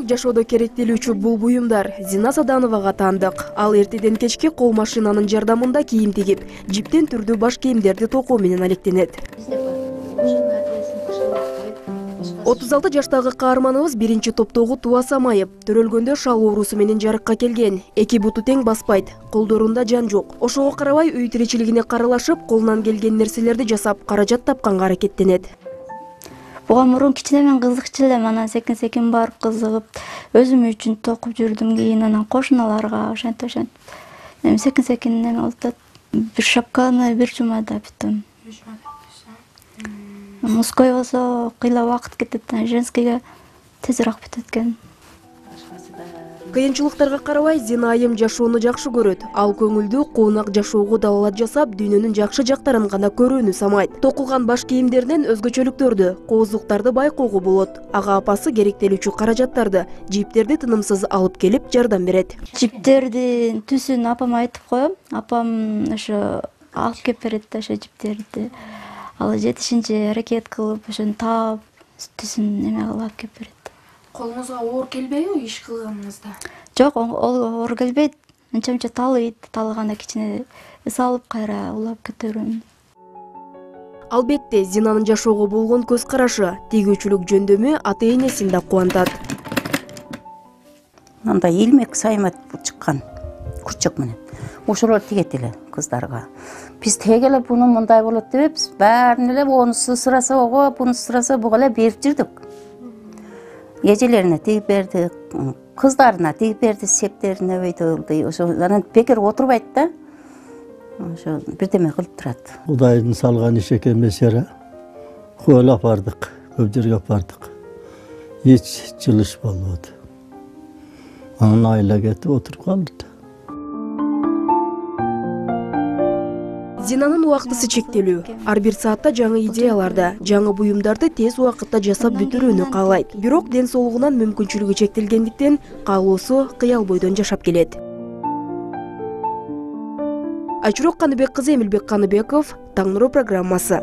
жашоодо керектелүүчү бул буюмдар Зина Садановага таандык. Ал эртеден кечке кол машинанын жардамында кийим тигип, жиптен түрдүү баш кийимдерди токуу менен алектенет. 36 жаштагы каарманыбыз биринчи топтогу Туа Самаев төрөлгөндө шал оорусу менен жарыкка келген. Эки буту тең баспайт, колдорунда жан жок. Ошого карабай үй тиричилигине каралашып, колунан келген нерселерди жасап, каражат тапканга аракеттенет. Буга мурун кичинемен кызыкчу элем, анан секин барып кызыгып, өзүм үчүн токуп жүрдүм. Кийин анан кошуналарга ошентип секин неме болуп, бир шапканы бир жумада бүттүм. Мужской болсо кыйла убакыт кетет, женскийге тезирээк бүтөт экен. Кыйынчылыктарга карабай Зина айым жашоону жакшы көрөт. Ал көңүлдүү, куунак жашоого далалат жасап, дүйнөнүн жакшы жактарын гана көрүүнү самайт. Токулган баш кийимдеринен өзгөчөлүктөрдү, кооздуктарды байкоого болот. Ага апасы керектелүүчү каражаттарды, жиптерди тынымсыз алып келип жардам берет. Жиптердин түсүн апама айтып коем. Апам ошо алып келип берет ошо жиптерди. Ал жетишинче аракет кылып, ошону таап, түсүн неме кылып алып келип берет. Колуңузга оор келбейби иш кылганыңызда? Жок, оор келбейт. Анча-мынча талыганда кичине эс алып кайра улап кетерим. Албетте, Зинанын жашоого болгон көз карашы, тигүүчүлүк жөндөмү ата-энесин да кубантат. Мындай илмек саймат чыккан курчак менен. Ошолор тигет эле кыздарга. Биз теге эле буну мындай болот деппиз. Баарын эле онусу сыраса ого, бунусу сыраса буга эле берип жүрдүк. Эжелерине тигип берди, кыздарына тигип берди, септерине өйдөлдү. Ошо анан бекер отурбайт да. Ошо бирдеме кылып турат. Кудайдын салган иш экен месера. Койлап бардык, көп жерге бардык. Эч жылыш болбоду. Анан айла кетип отуруп калды. Зинанын убактысы чектелүү. Ар бир саатта жаңы идеяларды, жаңы буюмдарды тез убакытта жасап бүтүрүүнү каалайт. Бирок ден соолугунан мүмкүнчүлүгү чектелгендиктен каалоосу кыял бойдон жашап келет. Айчурок Каныбек кызы, Эмилбек Каныбеков, Таң нуру программасы.